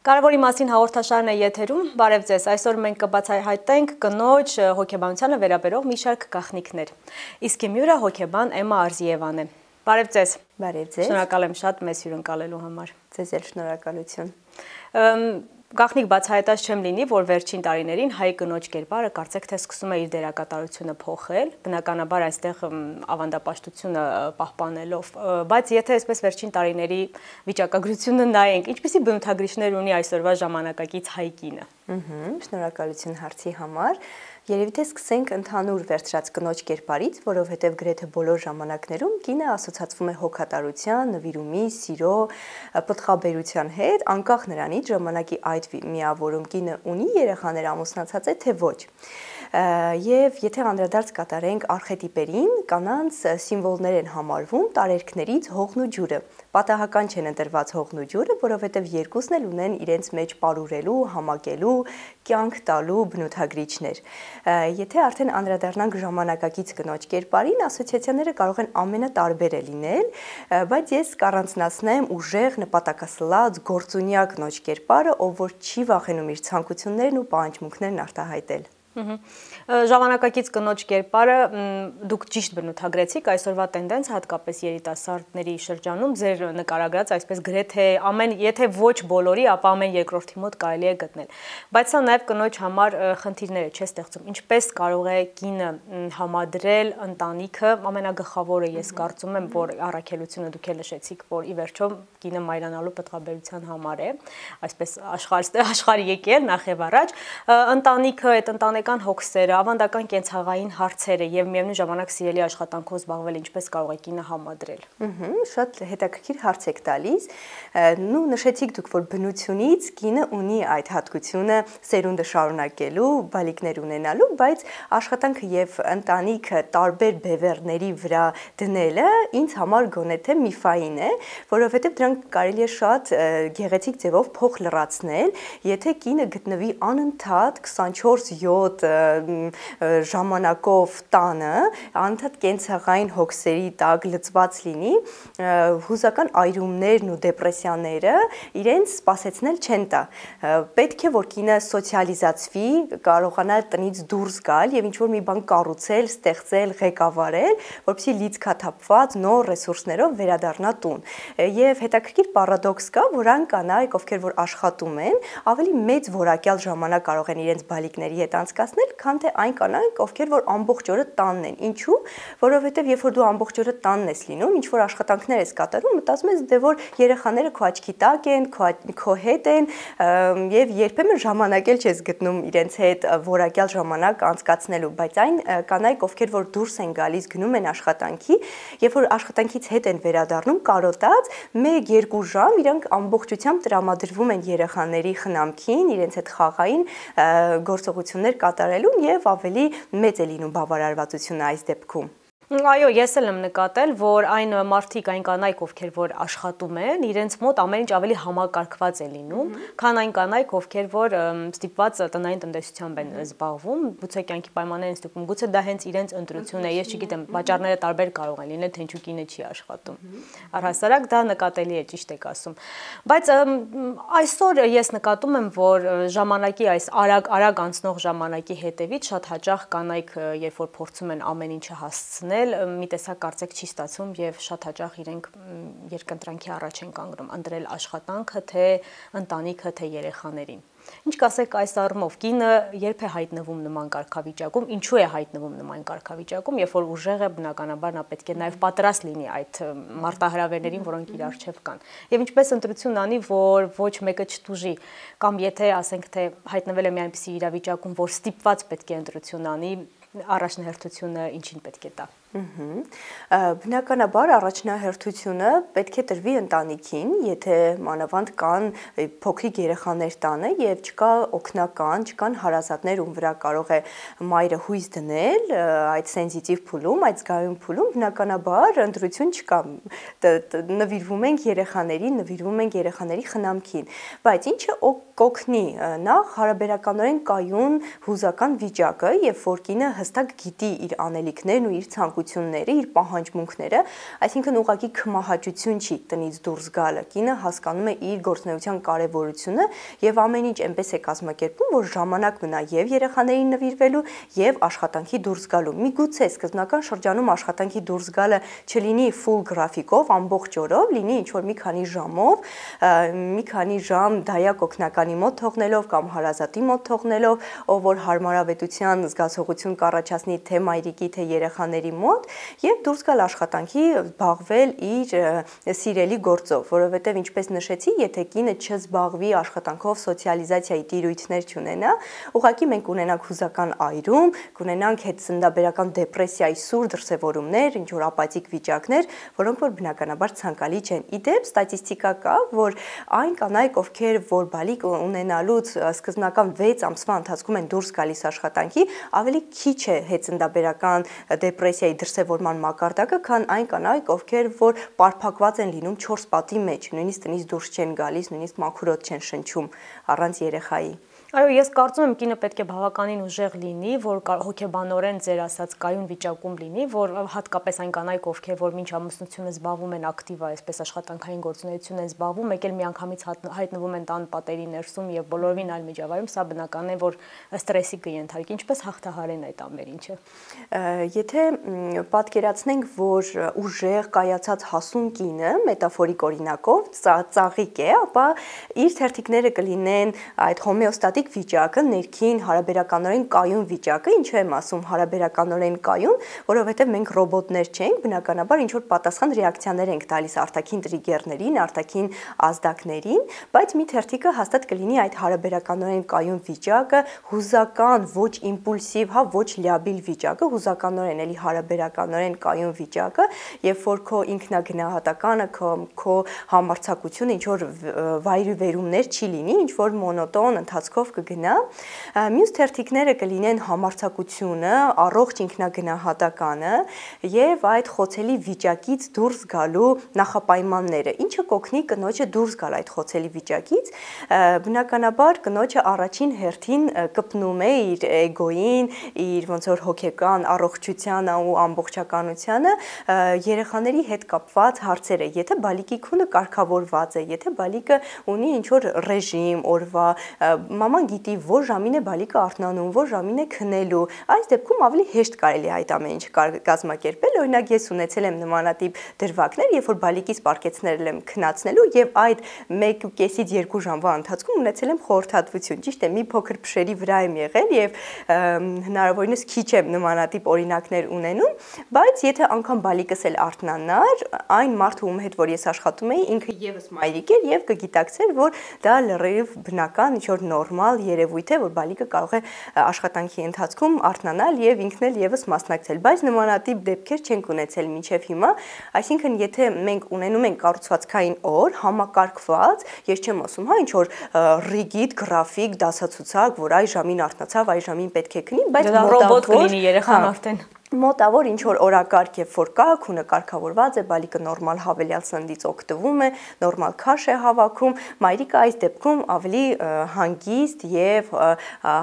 Կարևորի մասին հաղորդաշարն է եթերում, բարև ձեզ, այսօր մենք կբացահայտենք կնոջ հոգեբանությանը վերաբերող մի շարք գաղտնիքներ, իսկ իմ հյուրը հոգեբան Էմմա Արզիևան է, բարև ձեզ, շնորհակալ եմ շատ մեզ հյուրընկալելու համար, ձեզ էլ շնորհակալություն, Գաղտնիք բացահայտած չեմ լինի, որ վերջին տարիներին հայ կնոջ կերպարը կարծեք թե սկսում է իր դերակատարությունը փոխել, բնականաբար այստեղ ավանդապաշտությունը պահպանելով, բայց եթե այսպես վերջին տարիների վիճակագրությունը նայենք, ինչպիսի բնութագրիչներ ունի այսօրվա ժամանակակից հայ կինը։ Շնորհակալություն հարցի համար։ Երևի թե սկսենք ընդհանուր վերցրած կնոջ կերպարից, որովհետև գրեթե բոլոր ժամանակներում կինը ասոցացվում է հոգատարության, նվիրումի, սիրո, պտղաբերության հետ, անկախ նրանից ժամանակի այդ միավորում կինը ունի երեխաներ ամուսնացած է, թե ոչ։ Եվ եթե անդրադարձ կատարենք արխետիպերին, կանանց սիմվոլներ են համարվում տարերքներից հողն ու ջուրը։ Պատահական չեն ընտրված հողն ու ջուրը, որովհետև երկուսն էլ ունեն իրենց մեջ պարուրելու, համակելու, կյանք տալու բնութագրիչներ։ Եթե արդեն անդրադառնանք ժամանակակից կնոջ կերպարին, ասոցիացիաները կարող են ամենատարբերը լինել, բայց ես կառանձնացնեմ ուժեղ, նպատակասլաց, գործունյա կնոջ կերպարը, ով որ չի վախենում իր ցանկություններն ու պահանջմունքներն արտահայտել։ Ժամանակակից կնոջ կերպարը դուք ճիշտ բնութագրեցիք այսօրվա տենդենց հատկապես երիտասարդների շրջանում ձեր նկարագրած այսպես գրեթե ամեն եթե ոչ բոլորի, ապա ամեն երկրորդի մոտ կարելի է գտնել։ Բայց սա նաև կնոջ համար խնդիրներ չէ ստեղծում։ Ինչպես կարող է կինը համադրել ընտանիքը, ամենագլխավորը ես կարծում եմ, որ առաքելությունը դուք էլ նշեցիք, որ ի վերջո կինը մայրանալու պտղաբերության համար է, այսպես աշխարհ եկել նախ եւ առաջ, ընտանիքը այդ ընտանեկան հոգսերը, ավանդական կենցաղային հարցերը եւ միևնույն ժամանակ սիրելի աշխատանքով զբաղվել ինչպես կարող է կինը համադրել։ Շատ հետաքրքիր հարց եք տալիս։ Նու նշեցիք դուք, որ բնությունից կինը ունի այդ հատկությունը սերունդը շարունակելու, բալիկներ ունենալու, բայց աշխատանքը եւ ընտանիքը տարբեր բևեռների վրա դնելը ինձ համար գոնե թե միֆային է, որովհետեւ դրանք կարելի է շատ գեղեցիկ ձևով փոխ լրացնել, եթե կինը գտնվի անընդհատ 24/7 ժամանակով տանը, անընդհատ կենցաղային հոգսերի տակ լծված լինի, հուզական այրումներն ու դեպրեսիաները իրենց սպասեցնել չեն տա։ Պետք է որ կինը սոցիալիզացվի, կարողանա տնից դուրս գալ եւ ինչ-որ մի բան կառուցել, ստեղծել, ղեկավարել, որպեսզի լիցքաթափված նոր ռեսուրսներով վերադառնա տուն։ Եվ հետաքրքիր պարադոքս կա, որ այն կանայք, ովքեր որ աշխատում են, ավելի մեծ որակյալ ժամանակ կարող են իրենց բալիկների հետ անցկացնել, քան թե այն կանայք, ովքեր որ ամբողջ օրը տանն են։ Ինչու՞, որովհետև երբ որ դու ամբողջ օրը տանն ես լինում, ինչ որ աշխատանքներ ես կատարում, մտածում ես դե որ երեխաները քո աչքի տակ են, քո հետ են, եւ երբեմն ժամանակ էլ չես գտնում իրենց հետ որակյալ ժամանակ անցկացնելու, բայց այն կանայք, ովքեր որ դուրս են գալիս, գնում են աշխատանքի, երբ որ աշխատանքից հետ են վերադառնում, կարոտած 1-2 ժամ իրանք ամբողջությամբ տրամադրվում են երեխաների խնամքին, իրենց հետ խաղային գործողություններ կատարելուն եւ ավելի մեծ է լինում բավարարվածությունը այս դեպքում։ Այո, ես էլ եմ նկատել, որ այն մարդիկ, այն կանայք, ովքեր որ աշխատում են, իրենց մոտ ամեն ինչ ավելի համակարգված է լինում, քան այն կանայք, ովքեր որ ստիպված տնային տնտեսությամբ են զբաղվում, գուցե կյանքի պայմաններ են ստիպում, գուցե դա հենց իրենց ընտրությունն է, ես չգիտեմ, պատճառները տարբեր կարող են լինել, թե ինչու կինը չի աշխատում։ Առհասարակ դա նկատելի է, ճիշտ եք ասում։ Բայց այսօր ես նկատում եմ, որ ժամանակի այս արագ անցնող ժամանակի հետևից շատ հաճախ կանայք, երբ որ փորձում են ամեն ինչը հասցնել, մի տեսակ կարծեք չի ստացվում եւ շատ հաճախ իրենք երկընտրանքի առաջ են կանգնում ընտրել աշխատանքը, թե ընտանիքը, թե երեխաներին։ Ինչ կասեք այս առումով, կինը երբ է հայտնվում նման կարգավիճակում, ինչու է հայտնվում նման կարգավիճակում, երբ որ ուժեղ է, բնականաբար նա պետք է նաեւ պատրաստ լինի այդ մարտահրավերներին, որոնք իր առջև կան։ Եվ ինչպես ընտրություն անի, որ ոչ մեկը չտուժի, կամ եթե ասենք թե հայտնվել է մի այնպիսի իրավիճակում, որ ստիպված պետք է ընտրություն անի, առաջնահերթությունը ինչին պետք է տա։ Բնականաբար առաջնահերթությունը պետք է տրվի ընտանիքին, եթե մանավանդ կան փոքրիկ երեխաներ տանը եւ չկա օգնական, չկան հարազատներ, ում վրա կարող է մայրը հույս դնել այդ սենզիտիվ փուլում, այդ զգայուն փուլում, բնականաբար ընտրություն չկա։ Նվիրվում ենք երեխաներին, նվիրվում ենք երեխաների խնամքին, բայց ինչը կօգնի նախ հարաբերականորեն կայուն հուզական վիճակը, երբ որ կինը հստակ գիտի իր անելիքներն ու իր ցանկությունները ցանկությունները, իր պահանջմունքները, այսինքն ուղղակի քմահաճություն չի տնից դուրս գալը։ Կինը հասկանում է իր գործունեության կարևորությունը եւ ամեն ինչ այնպես է կազմակերպում, որ ժամանակ մնա եւ երեխաներին նվիրվելու եւ աշխատանքի դուրս գալու։ Միգուցե սկզբնական շրջանում աշխատանքի դուրս գալը չլինի full գրաֆիկով, ամբողջ օրով, լինի ինչ որ մի քանի ժամով, մի քանի ժամ դայակ օգնականի մոտ թողնելով կամ հարազատի մոտ թողնելով, ով որ հարմարավետության զգացողություն կառաջացնի թե մայրիկի, թե երեխաների մոտ եւ դուրս գալ աշխատանքի, զբաղվել իր սիրելի գործով, որովհետեւ ինչպես նշեցի, եթե կինը չզբաղվի աշխատանքով, սոցիալիզացիայի տիրույթներ չունենա, ուղղակի մենք ունենանք հուզական այրում, կունենանք հետծնդաբերական դեպրեսիայի սուր դրսևորումներ, ինչ որ ապաթիկ վիճակներ, որոնք որ բնականաբար ցանկալի չեն։ Իդեպ ստատիստիկա կա, որ այն կանայք, ովքեր որ բալիկ ունենալուց սկզբնական 6 ամսվա ընթացքում են դուրս գալիս աշխատանքի, ավելի քիչ է հետծնդաբերական դեպրեսիայի դրսևորման մակարդակը, քան այն կանայք, ովքեր որ պարփակված են լինում 4 պատի մեջ, նույնիսկ տնից դուրս չեն գալիս, նույնիսկ մաքուրոտ չեն շնչում առանց երեխայի։ Այո, ես կարծում եմ կինը պետք է բավականին ուժեղ լինի, որ հոգեբանորեն ձեր ասած կայուն վիճակում լինի, որ հատկապես այն կանայք, ովքեր որ մինչ ամուսնությունը զբաղվում են ակտիվ, այսպես աշխատանքային գործունեություն են զբաղվում, մեկ էլ միանգամից հայտնվում են տան պատերի ներսում եւ բոլորովին այլ միջավայրում, սա բնական է, որ ստրեսի կենթարկի, ինչպես հաղթահարեն այդ ամեն ինչը։ Եթե պատկերացնենք, որ ուժեղ կայացած հասուն կինը, մետաֆորիկ օրինակով, ծաղիկ է, ապա իր թերթիկները կլինեն այդ հոմեոստատիկ վիճակը, ներքին հարաբերականորեն կայուն վիճակը, ինչու եմ ասում հարաբերականորեն կայուն, որովհետև մենք ռոբոտներ չենք, բնականաբար ինչ որ պատասխան ռեակցիաներ ենք տալիս արտաքին տրիգերներին, արտաքին ազդակներին, բայց մի թերթիկը հաստատ կլինի այդ հարաբերականորեն կայուն վիճակը, հուզական, ոչ իմպուլսիվ, հա, ոչ լիաբիլ վիճակը, հուզականորեն էլի հարաբերականորեն կայուն վիճակը, երբ որ քո ինքնագնահատականը, քո համարձակությունը ինչ որ վայրիվերումներ չի լինի, ինչ որ մոնոտոն ընթացքով կգնա, մյուս թերթիկները կլինեն համարձակությունը, առողջ ինքնագնահատականը եւ այդ խոցելի վիճակից դուրս գալու նախապայմանները, ինչը կօգնի կնոջը դուրս գալ այդ խոցելի վիճակից, բնականաբար կնոջը առաջին հերթին կպնում է իր էգոյին, իր ոնց որ հոգեկան առողջությանը ու ամբողջականությանը, երեխաների հետ կապված հարցերը, եթե բալիկի քունը կարգավորված է, եթե բալիկը ունի ինչ որ ռեժիմ օրվա, մաման գիտի, որ ժամին է բալիկը արթնանում, որ ժամին է քնելու, այս դեպքում ավելի հեշտ կարելի է այդ ամեն ինչը կազմակերպել, օրինակ ես ունեցել եմ նմանատիպ դրվագներ, երբ որ բալիկից պարկեցնել եմ քնացնելու եւ այդ 1.5-ից 2 ժամվա ընթացքում ունեցել եմ խորհրդատվություն, ճիշտ է, մի փոքր փշերի վրա եմ եղել եւ հնարավորինս քիչ եմ նմանատիպ օրինակներ ունենում, բայց եթե անգամ բալիկս էլ արթնանար, այն մարդը ում հետ որ ես աշխատում էի, ինքը եւս մայրիկ էր եւ կգիտակցեր, որ դա լրիվ բնական, ինչ որ նորմալ երևույթ է, որ բալիկը կարող է աշխատանքի ընթացքում արթնանալ եւ ինքն էլ եւս մասնակցել, բայց նմանատիպ դեպքեր չենք ունեցել մինչեւ հիմա, այսինքն եթե մենք ունենում ենք կառուցվածքային օր, համակարգված, ես չեմ ասում, հա, ինչ որ ռիգիդ, գրաֆիկ, դասացուցակ, որ այ ժամին արթնացավ, այ ժամին պետք է քնի, բայց ռոբոտ կլինի երեխան արդեն մոտավոր ինչ որ օրակարգ եւ որ կա, քունը կարգավորված է, բալիկը նորմալ հավելյալ սննդից օգտվում է, նորմալ քաշ է հավաքում, մայրիկը այս դեպքում ավելի հանգիստ եւ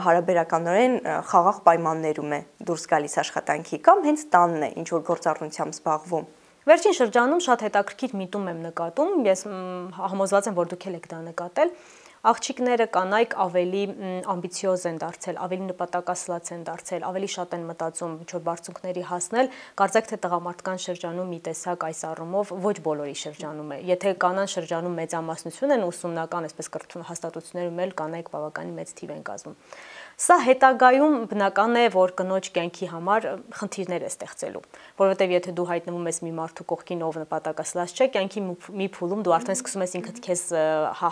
հարաբերականորեն խաղաղ պայմաններում է դուրս գալիս աշխատանքի կամ հենց տանն է ինչ որ գործառնությամբ զբաղվում։ Վերջին շրջանում շատ հետաքրքիր միտում եմ նկատում, ես համոզված եմ, որ դուք եք դա նկատել։ Աղջիկները կանայք ավելի ամբիցիոզ են դարձել, ավելի նպատակասլաց են դարձել, ավելի շատ են մտածում ինչ որ բարձունքների հասնել, կարծեք թե տղամարդկան շրջանում մի տեսակ այս առումով ոչ բոլորի շրջանում է։ Եթե կանան շրջանում մեծամասնություն են ուսումնական, այսպես կրթություն հաստատություններում էլ կանայք բավականին մեծ թիվ են կազմում։ Սա հետագայում բնական է, որ կնոջ կյանքի համար խնդիրներ է ստեղծելու, որովհետև եթե դու հայտնվում ես մի մարդու կողքին, ով նպատակասլաց չէ, կյանքի մի փուլում դու արդեն սկսում ես ինքդ քեզ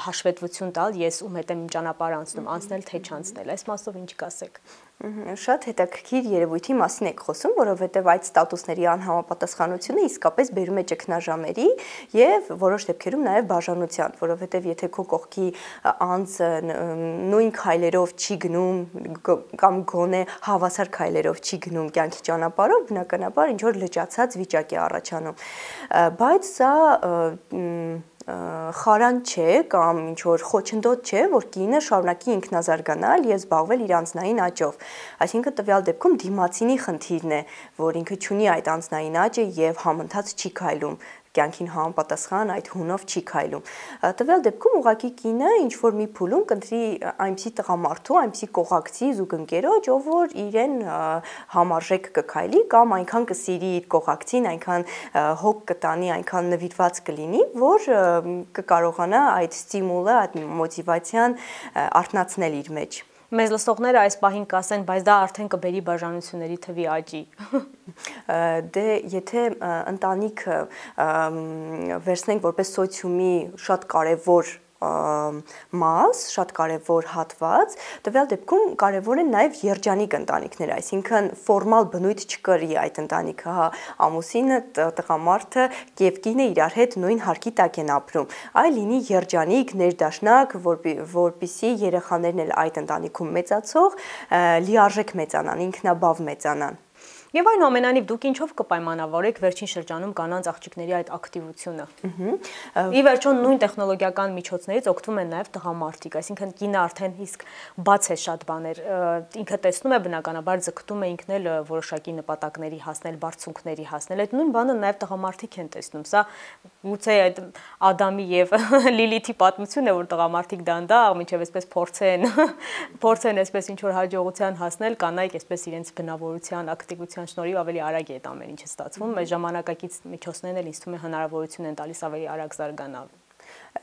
հաշվետվություն տալ, ես ում հետ եմ ճանապարհ անցնել, թե չանցնել, այս մասով ինչ կասեք։ Շատ հետաքրքիր երևույթի մասին եք խոսում, որովհետև այդ ստատուսների անհամապատասխանությունը իսկապես բերում է ճգնաժամերի եւ որոշ դեպքերում նաեւ բաժանության, որովհետև եթե քո կողքի անձը նույն քայլերով չի գնում կամ գոնե հավասար քայլերով չի գնում կյանքի ճանապարհով, բնականաբար ինչ որ լճացած վիճակ է առաջանում, բայց սա խարան չէ կամ ինչ որ խոչընդոտ չէ, որ կինը շարունակի ինքնազարգանալ եւ զբաղվել իր անձնային աճով։ Այսինքն տվյալ դեպքում դիմացինի խնդիրն է, որ ինքը ունի այդ անձնային աճը եւ համընթաց չի քայլում կյանքին համապատասխան այդ հունով չի քայլում։ Տվյալ դեպքում ուղղակի կինը ինչ որ մի փուլում կընտրի այնպիսի տղամարդու, այնպիսի կողակցի զուգընկերոջ, ով որ իրեն համարժեք կքայլի կամ այնքան կսիրի իր կողակցին, այնքան հոգ կտանի, այնքան նվիրված կլինի, որ կկարողանա այդ ստիմուլը, այդ մոտիվացիան արթնացնել իր մեջ։ Մեզ լսողները այս պահին կասեն, բայց դա արդեն կբերի բաժանությունների թվի աճի։ Դե եթե ընտանիքը վերցնենք որպես սոցիումի շատ կարևոր մաս, շատ կարևոր հատված, տվյալ դեպքում կարևոր են նաև երջանիկ ընտանիքները, այսինքն ֆորմալ բնույթ չկրի այդ ընտանիքը, հա, ամուսինը, տղամարդը եւ կինը իրար հետ նույն հարկի տակ են ապրում, այլ լինի երջանիկ, ներդաշնակ, որպիսի երեխաներն էլ այդ ընտանիքում մեծացող լիարժեք մեծանան, ինքնաբավ մեծանան։ Եվ այնուամենայնիվ դուք ինչով կպայմանավորեք վերջին շրջանում կանանց աղջիկների այդ ակտիվությունը։ Ի վերջո նույն տեխնոլոգիական միջոցներից օգտվում են նաև տղամարդիկ, այսինքն կինը արդեն իսկ բաց է շատ բաներ, ինքը տեսնում է բնականաբար ձգտում է ինքն էլ որոշակի նպատակների հասնել, բարձունքների հասնել, այդ նույն բանը նաև տղամարդիկ են տեսնում, սա գուցե այդ Ադամի եւ Լիլիթի պատմությունն է, որ տղամարդիկ դանդաղ մինչեւ այսպես փորձեն այսպես ինչ որ հաջողության հասնել, կանայք այսպես իրենց բնավորության, ակտիվության շնորհիվ ավելի արագ է այդ ամեն ինչը ստացվում, մեր ժամանակակից միջոցներն էլ ինձ թվում է հնարավորություն են տալիս ավելի արագ զարգանալ։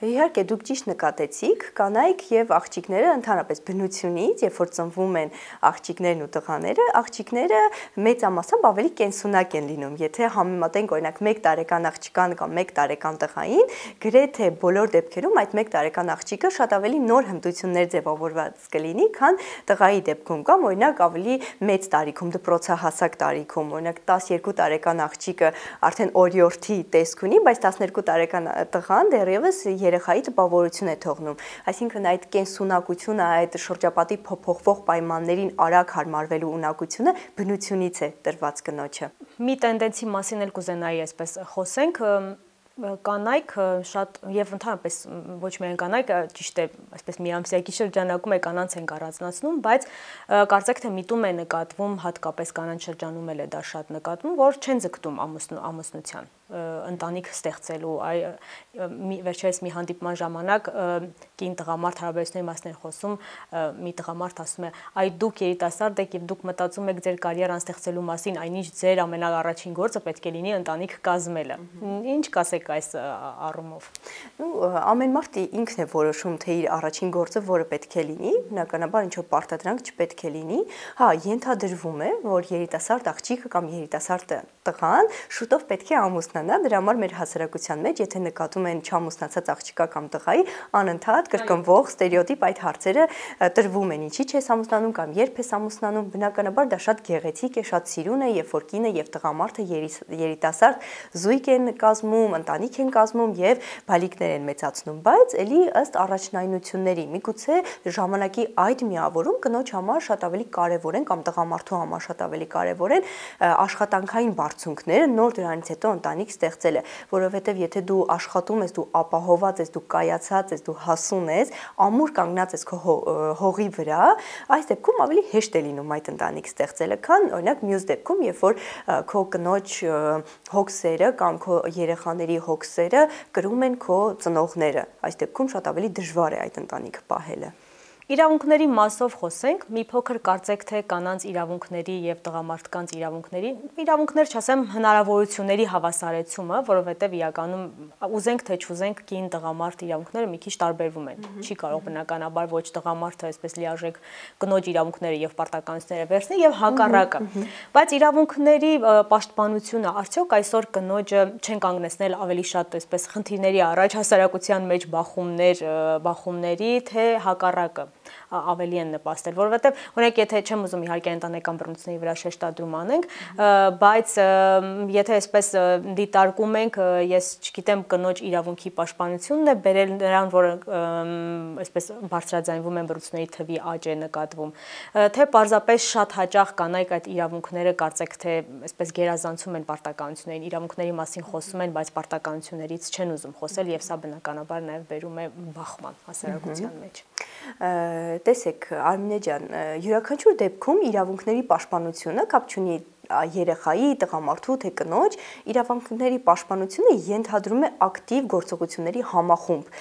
Իհարկե դուք ճիշտ նկատեցիք, կանայք եւ աղջիկները ընդհանրապես բնությունից, երբ որ ծնվում են աղջիկներն ու տղաները, աղջիկները մեծամասամբ ավելի կենսունակ են լինում։ Եթե համեմատենք օրինակ 1 տարեկան աղջկան կամ 1 տարեկան տղային, գրեթե բոլոր դեպքերում այդ 1 տարեկան աղջիկը շատ ավելի նոր հմտություններ ձևավորված կլինի, քան տղայի դեպքում կամ օրինակ ավելի մեծ տարիքում, դպրոցահասակ տարիքում, օրինակ 12 տարեկան աղջիկը արդեն օրիորդի տեսք ունի, բայց 12 տարեկան տղան դեռևս երեխայի տպավորություն է թողնում, այսինքն այդ կենսունակությունը, այդ շրջապատի փոփոխվող պայմաններին արագ հարմարվելու ունակությունը բնությունից է տրված կնոջը։ Մի տենդենսի մասին էլ կուզենայի այսպես խոսենք, կանայք շատ եւ ընդհանրապես ոչ միայն կանայք, ճիշտ է, այսպես միամսյակի շրջանակում է կանանց են առանձնացնում, բայց կարծեք թե միտում է նկատվում, հատկապես կանանց շրջանում էլ է դա շատ նկատվում, որ չեն ձգտում ամուսնության, ընտանիք ստեղծելու, վերջերս մի հանդիպման ժամանակ կին տղամարդ հարաբերությունների մասին խոսում, մի տղամարդ ասում է, այ դուք երիտասարդ եք եւ դուք մտածում եք ձեր կարիերան ստեղծելու մասին, այնինչ ձեր ամենաառաջին գործը պետք է լինի ընտանիք կազմելը։ Ինչ կասեք այս առումով։ Ամեն մարդ ինքն է որոշում, թե իր առաջին գործը որը պետք է լինի, բնականաբար ինչ որ պարտադրանք չպետք է լինի։ Հա, ենթադրվում է, որ երիտասարդ աղջիկը կամ երիտասարդ տղան շուտով պետք է ամուսնանա, դրա համար մեր հասարակության մեջ, եթե նկատում են չամուսնացած աղջիկա կամ տղայի, անընդհատ կրկնվող ստերեոտիպ այդ հարցերը տրվում են, ինչի՞ չես ամուսնանում կամ երբ ես ամուսնանում, բնականաբար դա շատ գեղեցիկ է, շատ սիրուն է, երբ որ կինը եւ տղամարդը երիտասարդ զույգ են կազմում, ընտանիք են կազմում եւ բալիկներ են մեծացնում, բայց ելի ըստ առաջնայնությունների, միգուցե ժամանակի այդ միավորում կնոջ համար շատ ավելի կարեւոր են կամ տղամարդու համար շատ ավելի կարեւոր են աշխատանքային բարձունքները, նոր դրանից հետո ընտանիք ստեղծելը, որովհետեւ եթե դու աշխատում ես, դու ապահոված ես, դու կայացած ես, դու հասուն ես, ամուր կանգնած ես քո հողի վրա, այս դեպքում ավելի հեշտ է լինում այդ ընտանիք ստեղծելը, քան օրինակ մյուս դեպքում, երբ որ քո կնոջ հոգսերը կամ քո երեխաների հոգսերը կրում են քո ծնողները, այս դեպքում շատ ավելի դժվար է այդ ընտանիքը պահելը։ Իրավունքների մասով խոսենք, մի փոքր կարծեք թե կանանց իրավունքների եւ տղամարդկանց իրավունքներ չասեմ, հնարավորությունների հավասարեցումը, որովհետեւ իրականում ուզենք թե չուզենք կին տղամարդ իրավունքները մի քիչ տարբերվում են։ Չի կարող բնականաբար ոչ տղամարդը այսպես լիարժեք կնոջ իրավունքները եւ պարտականությունները վերցնի եւ հակառակը։ Բայց իրավունքների պաշտպանությունը արդյոք այսօր կնոջը չեն կանգնեցնել ավելի շատ այսպես խնդիրների առաջ հասարակության մեջ բախումների, թե հակառակը։ ավելի են նպաստել, որովհետև օրինակ եթե չեմ ուզում իհարկե ընտանեկան բռնությունների վրա շեշտադրում անենք, բայց եթե այսպես դիտարկում ենք, ես չգիտեմ կնոջ իրավունքի պաշտպանությունն է բերել նրան, որ այսպես բարձրաձայնվում են բռնությունների թվի աճ է նկատվում, թե պարզապես շատ հաճախ կանայք այդ իրավունքները կարծեք թե այսպես գերազանցում են պարտականություններին, իրավունքների մասին խոսում են, բայց պարտականություններից չեն ուզում խոսել եւ սա բնականաբար նաեւ բերում է բախման հասարակության մեջ։ Տեսեք, Արմինե ջան, յուրաքանչյուր դեպքում իրավունքների պաշտպանությունը կապ չունի երեխայի, տղամարդու թե կնոջ, իրավունքների պաշտպանությունը ենթադրում է ակտիվ գործողությունների համախումբ։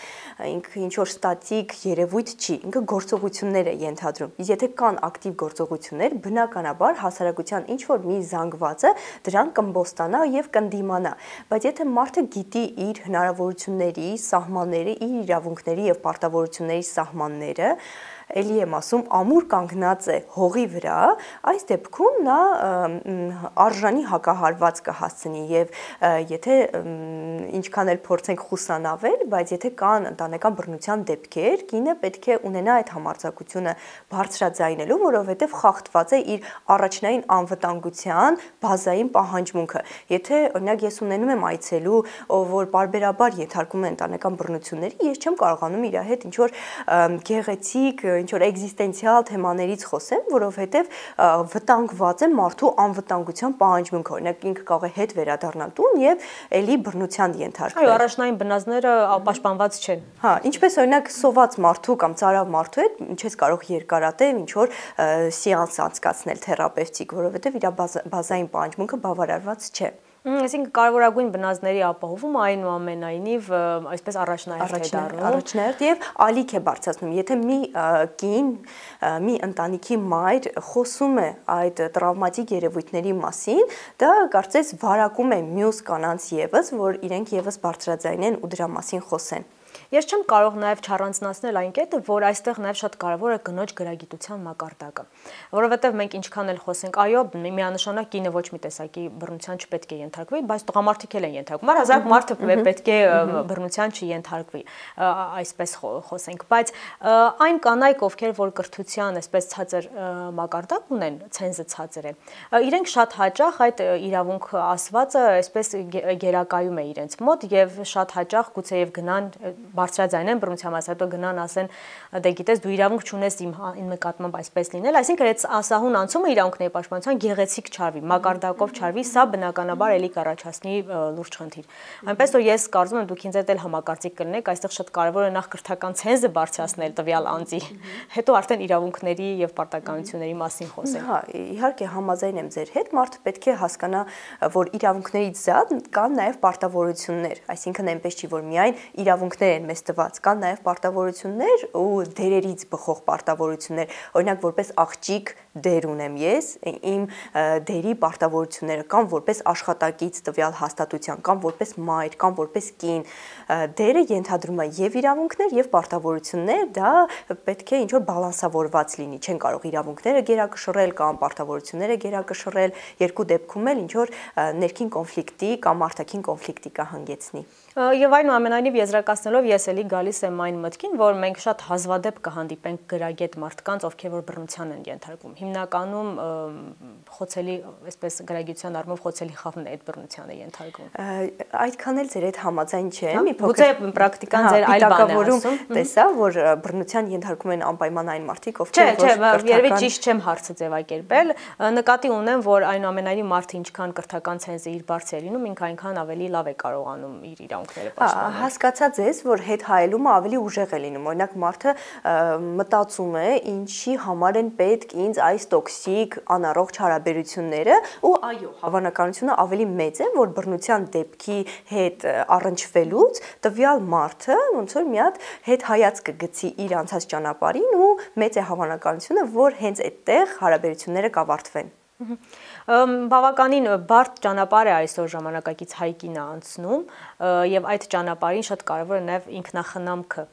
Ինքը ինչ որ ստատիկ երևույթ չի, ինքը գործողություններ է ենթադրում։ Իսկ եթե կան ակտիվ գործողություններ, բնականաբար հասարակության ինչ որ մի զանգվածը դրան կըմբոստանա եւ կընդդիմանա։ Բայց եթե մարդը գիտի իր հնարավորությունների, սահմանները, իր իրավունքների եւ պարտավորությունների սահմանները, էլի եմ ասում, ամուր կանգնած է հողի վրա, այս դեպքում նա արժանի հակահարված կհասցնի եւ եթե ինչքան էլ փորձենք խուսանավել, բայց եթե կան ընտանեկան բռնության դեպքեր, կինը պետք է ունենա այդ համարձակությունը բարձրաձայնելու, որովհետեւ խախտված է իր առաջնային անվտանգության բազային պահանջմունքը։ Եթե օրինակ ես ունենում եմ այցելու, որ բարբերաբար ենթարկում է ընտանեկան բռնությունների, ես չեմ կարողանում իր հետ ինչ որ գեղեցիկ ինչ որ էգզիստենցիալ թեմաներից խոսեմ, որովհետև վտանգված է մարդու անվտանգության պահանջմունքը, օրինակ ինքը կարող է հետ վերադառնալ տուն եւ էլի բռնության ենթարկվել։ Այո, առաջնային բնազդները պաշտպանված չեն։ Հա, ինչպես օրինակ սոված մարդու կամ ծարավ մարդու հետ ինչպես կարող երկարատև ինչ որ սեանս անցկացնել թերապևտիկ, որովհետև իր բազային պահանջմունքը բավարարված չէ։ Այսինքն կարևորագույն բնազդների ապահովումը այնուամենայնիվ այսպես առաջնահերթ է դառնում։ Առաջնահերթ եւ ալիք է բարձրացնում։ Եթե մի կին, մի ընտանիքի մայր խոսում է այդ տրավմատիկ երևույթների մասին, դա կարծես վարակում է մյուս կանանց եւս, որ իրենք եւս բարձրաձայնեն ու դրա մասին խոսեն։ Ես չեմ կարող նաև չառանձնացնել այն կետը, որ այստեղ նաև շատ կարևոր է կնոջ գրագիտության մակարդակը, որովհետև մենք ինչքան էլ խոսենք, այո, միանշանակ կինը ոչ մի տեսակի բռնության չպետք է ենթարկվի, բայց տղամարդիկ էլ են ենթարկվում, առհասարակ մարդը պետք է բռնության չենթարկվի, այսպես խոսենք, բայց այն կանայք, ովքեր որ կրթության այսպես ցածր մակարդակ ունեն, ցենզը ցածր է, իրենք շատ հաճախ այդ իրավունք ասվածը այսպես գերակայում է իրենց մոտ եւ շատ հաճախ գուցեև գնան բարձրաձայնեն բռնության մաս, հետո գնան ասեն, դե գիտես դու իրավունք չունես իմ նկատմամբ այսպես լինել, այսինքն այդ ասահուն անցումը իրավունքների պաշտպանության գեղեցիկ չարվի, մակարդակով չարվի, սա բնականաբար էլի կառաջացնի լուրջ խնդիր։ Այնպես որ ես կարծում եմ դուք ինձ հետ էլ համակարծիք կլինեք, այստեղ շատ կարևոր է նախ կրթական ցենզը բարձրացնել տվյալ անձի, հետո արդեն իրավունքների եւ պարտականությունների մասին խոսել։ Հա, իհարկե համաձայն եմ ձեր հետ, մարդը պետք է հասկանա, որ իրավունքներից զատ կան նաեւ պարտավորություններ, այսինքն այնպես չի, որ միայն իրավունքներ են մեզ տված, կան նաև պարտավորություններ ու դերերից բխող պարտավորություններ, օրինակ որպես աղջիկ դեր ունեմ ես, իմ դերի պարտավորությունները կան որպես աշխատակից տվյալ հաստատության, կան որպես մայր, կան որպես կին, դերը ենթադրում է եւ իրավունքներ եւ պարտավորություններ, դա պետք է ինչ որ բալանսավորված լինի, չեն կարող իրավունքները գերակշռել կամ պարտավորությունները գերակշռել, երկու դեպքում էլ ինչ որ ներքին կոնֆլիկտի կամ արտաքին կոնֆլիկտի կհանգեցնի։ Եվ այնուամենայնիվ եզրակացնելով ես էլի գալիս եմ այն մտքին, որ մենք շատ հազվադեպ կհանդիպենք գրագետ մարդկանց, ովքեր որ բռնության են ենթարկվում։ Հիմնականում խոցելի, այսպես գրագիտության առումով խոցելի խավն է այդ բռնության է ենթարկվում։ Այդքան էլ ձեր հետ համաձայն չեմ, մի փոքր պրակտիկան ձեր այլ բան է ասում։ Տեսա, որ բռնության ենթարկվում են անպայման այն մարդիկ, ովքեր որ երևի ճիշտ չեմ հարցը ձևակերպել, նկատի ունեմ, որ այնուամենայնիվ մարդը ինչքան կրթական ցենզը իր բարձր է լինում, ինքը այնքան ավելի լավ է կարողանում իր իրավունքները պաշտպանել։ Հասկացած ես, որ հետ հայելումը ավելի ուժեղ է լինում։ Օրինակ մարդը մտածում է, ինչի համար են պետք ինձ այս տոքսիկ անառողջ հարաբերությունները, ու այո, հավանականությունը ավելի մեծ է, որ բռնության դեպքի հետ առնչվելուց տվյալ մարդը ոնց որ մի հատ հետ հայացք կգցի իր անցած ճանապարհին ու մեծ է հավանականությունը, որ հենց այդտեղ հարաբերությունները կավարտվեն։ Բավականին բարդ ճանապարհ է այսօր ժամանակակից հայկինը անցնում եւ այդ ճանապարհին շատ կարեւոր է նաեւ ինքնախնամքը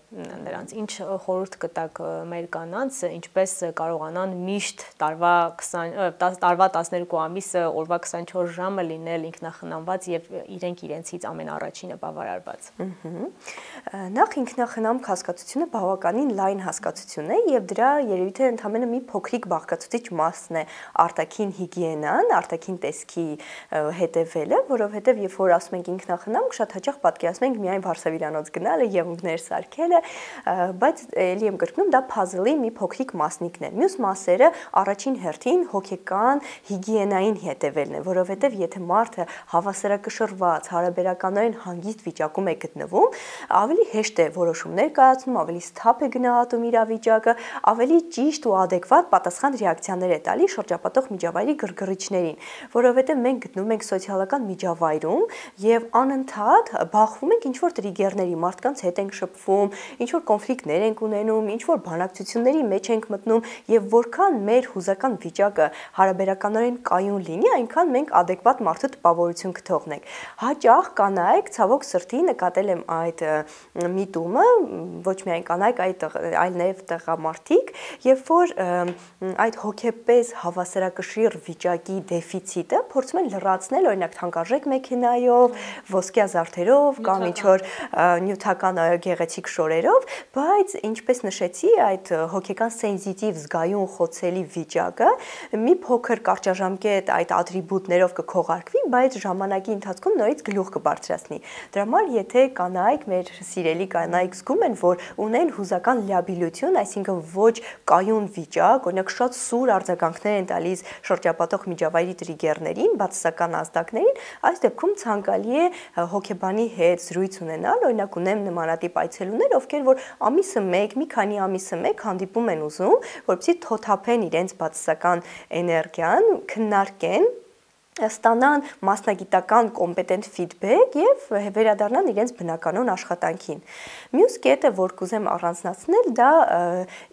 նրանց։ Ինչ խորհուրդ կտաք մեր կանանց, ինչպես կարողանան միշտ տարվա 12 ամիսը օրվա 24 ժամը լինել ինքնախնամված եւ իրենք իրենցից ամենաառաջինը բավարարված։ Նախ ինքնախնամք հասկացությունը բավականին լայն հասկացություն է եւ դրա երևի թե ընդհանրապես մի փոքրիկ բաղկացուցիչ մասն է արտաքին հիգիենան, արտաքին տեսքի հետևելը, որովհետև երբ որ ասում ենք ինքնախնամք, շատ հաճախ պատկերացնում ենք միայն վարսավիրանոց գնալը, եղունգներ սարքելը, բայց ելի եմ կրկնում, դա puzzle-ի մի փոքրիկ մասնիկն է։ Մյուս մասերը առաջին հերթին հոգեկան հիգիենային հետևելն է, որովհետև եթե մարդը հավասարակշռված, հարաբերականորեն հանգիստ վիճակում է գտնվում, ավելի հեշտ է որոշումներ կայացնում, ավելի սթափ է գնահատում իրավիճակը, ավելի ճիշտ ու adekvat պատասխան ռեակցիաներ է տալիս շրջապատող միջավայրի գրգռիչներին, որովհետև մենք գտնվում ենք սոցիալական միջավայրում եւ անընդհատ բախվում ենք ինչ-որ տրիգերների, մարդկանց հետ ենք շփվում, ինչ-որ կոնֆլիկտներ ենք ունենում, ինչ-որ բանակցությունների մեջ ենք մտնում եւ որքան մեր հուզական վիճակը հարաբերականորեն կայուն լինի, այնքան մենք adekvat մարդու տպավորություն կթողնենք։ Հաճախ կանայք ցավոք սրտի նկատել եմ այդ միտումը, ոչ միայն կանայք, այլ նաեւ տղամարդիկ, երբ որ այդ հոգեպես հավասարակշիռ վիճակի դեֆիցիտը փորձում են լրացնել, օրինակ թանկարժեք մեքենայով, ոսկյա զարդերով կամ ինչ-որ նյութական գեղեցիկ շորերով, բայց ինչպես նշեցի, այդ հոգեկան սենզիտիվ զգայուն խոցելի վիճակը մի փոքր կարճաժամկետ այդ ատրիբուտներով կքողարկվի, բայց ժամանակի ընթացքում նորից գլուխ կբարձրացնի։ Դրա համար եթե կանայք, մեր սիրելի կանայք զգում են, որ ունեն հուզական լիաբիլություն, այսինքն ոչ կայուն վիճակ, օրինակ շատ սուր արձագանքներ են տալիս շրջապատող միջավայրի տրիգերներին, բացասական ազդակներին, այս դեպքում ցանկալի է հոգեբանի հետ զրույց ունենալ, օրինակ ունեմ նմանատիպ այցելուներ, ովքեր որ ամիսը մեկ, մի քանի ամիսը մեկ հանդիպում են ուզում, որպեսզի թոթափեն իրենց բացասական էներգիան, քննարկեն, ստանան մասնագիտական կոմպետենտ ֆիդբեք եւ վերադառնան իրենց բնականոն աշխատանքին։ Մյուս կետը, որ կուզեմ առանձնացնել, դա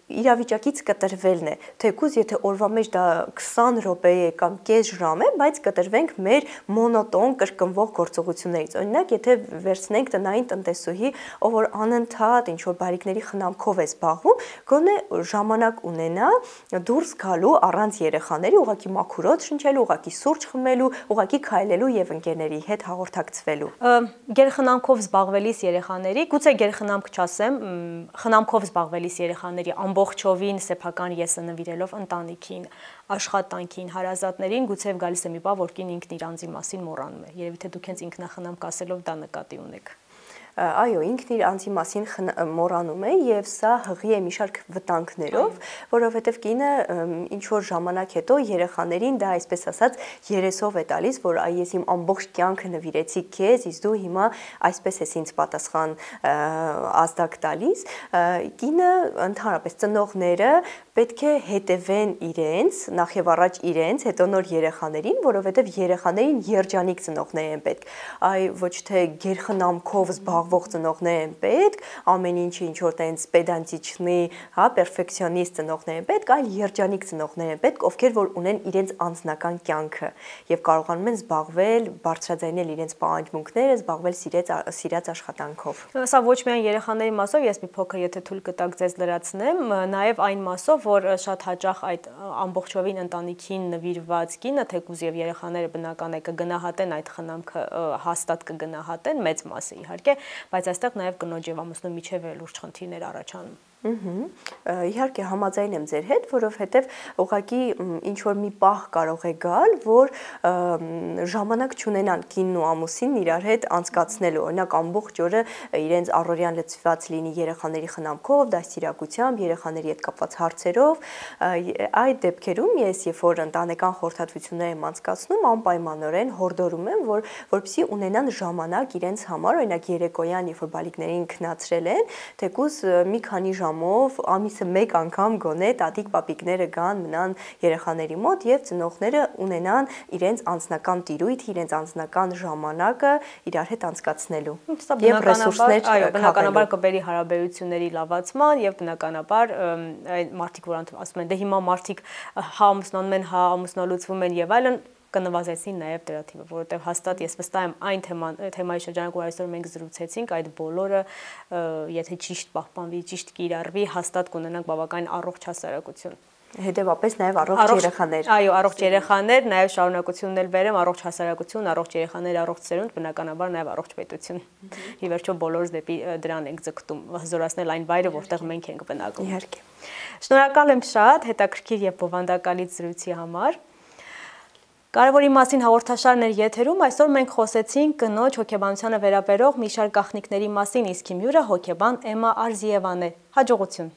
իրավիճակից կտրվելն է։ Թեկուզ եթե օրվա մեջ դա 20 րոպե է կամ կես ժամ է, բայց կտրվենք մեր մոնոտոն կրկնվող գործողություններից։ Օրինակ, եթե վերցնենք տնային տնտեսուհի, ով որ անընդհատ ինչ որ բարիկների խնամքով է զբաղվում, գոնե ժամանակ ունենա դուրս գալու առանց երեխաների, ուղղակի մաքուրոց շնչելու, ուղղակի սուրճ խմելու, ուղղակի քայլելու եւ ընկերների հետ հաղորդակցվելու։ Գերխնամքով զբաղվելիս երեխաների, գուցե գերխնամք չասեմ, խնամքով զբաղվելիս երեխաների ամբողջովին սեփական եսը նվիրելով ընտանիքին, աշխատանքին, հարազատներին, գուցե գալիս է մի բան, որ կին ինքն իր անձի մասին մոռանում է։ Երևի թե դուք հենց ինքնախնամք ասելով դա նկատի ունեք։ Այո, ինքն իր անձի մասին մոռանում է եւ սա հղի է մի շարք վտանգներով, որովհետեւ կինը ինչ որ ժամանակ հետո երեխաներին դա այսպես ասած երեսով է տալիս, որ այ ես իմ ամբողջ կյանքը նվիրեցի քեզ, իսկ դու հիմա այսպես ես ինձ պատասխան ազդակ տալիս։ Կինը ընդհանրապես ծնողները պետք է հետևեն իրենց, նախ եւ առաջ իրենց, հետո նոր երեխաներին, որովհետեւ երեխաներին երջանիկ ծնողներ են պետք։ Այ ոչ թե գերխնամքով զբաղվող ծնողներ են պետք, ամեն ինչը ինչ որ տենց պեդանտիչնի, հա, պերֆեկցիոնիստ ծնողներ են պետք, այլ երջանիկ ծնողներ են պետք, ովքեր որ ունեն իրենց անձնական կյանքը եւ կարողանում են զբաղվել, բարձրաձայնել իրենց պահանջմունքները, զբաղվել սիրած աշխատանքով։ Սա ոչ միայն երեխաների մասով, ես մի փոքր եթե թույլ կտաք ձեզ լրացնեմ, նաեւ այն մասով, որ շատ հաճախ այդ ամբողջովին ընտանիքին նվիրված կինը, թեկուզ եւ երեխաները բնական է կգնահատեն այդ խնամքը, հաստատ կգնահատեն մեծ մասը իհարկե, բայց այստեղ նաեւ կնոջ եւ ամուսնու միջև լուրջ խնդիրներ առաջանում։ Իհարկե համաձայն եմ ձեր հետ, որովհետև ուղղակի ինչ որ մի պահ կարող է գալ, որ ժամանակ չունենան կինն ու ամուսինն իրար հետ անցկացնելու, օրինակ ամբողջ օրը իրենց առօրյան լցված լինի երեխաների խնամքով, դաստիարակությամբ, երեխաների հետ կապված հարցերով, այդ դեպքերում ես երբ որ ընտանեկան խորհրդատվություններ եմ անցկացնում, անպայմանորեն հորդորում եմ, որպեսզի ունենան ժամանակ իրենց համար, օրինակ երեկոյան, երբ որ բալիկներին քնացրել են, թեկուզ մի քանի ժամ անգամով, ամիսը 1 անգամ գոնե տատիկ պապիկները գան մնան երեխաների մոտ եւ ծնողները ունենան իրենց անձնական տիրույթ, իրենց անձնական ժամանակը իրար հետ անցկացնելու եւ ռեսուրսներ, այո, բնականաբար կբերի հարաբերությունների լավացման եւ բնականաբար այն մարդիկ, որ ասում են դե հիմա մարդիկ հա ամուսնանում են, հա ամուսնալուծվում են եւ այլն կնվազեցին նաև դրա թիվը, որովհետև հաստատ ես վստահ եմ այն թեմայի շրջանակ, որ այսօր մենք զրուցեցինք, այդ բոլորը եթե ճիշտ պահպանվի, ճիշտ կիրառվի, հաստատ կունենանք բավական առողջ հասարակություն։ Հետևաբար նաև առողջ երեխաներ։ Այո, առողջ երեխաներ, նաև շարունակությունն էլ վերեմ, առողջ հասարակություն, առողջ երեխաներ, առողջ ծերունդ, բնականաբար նաև առողջ պետություն։ Ի վերջո բոլորս դեպի դրան ենք ձգտում, հզորացնել այն վայրը, որտեղ մենք ենք բնակվում։ Իհարկե։ Շնորհակալ եմ շատ հետաքրքիր եւ բովանդակալից զրույցի համար։ Կարևորի մասին հաղորդաշարն էր եթերում, այսօր մենք խոսեցինք կնոջ հոգեբանությանը վերաբերող մի շարք գաղտնիքների մասին, իսկ իմ հյուրը հոգեբան Էմմա Արզիևան է։ Հաջողություն։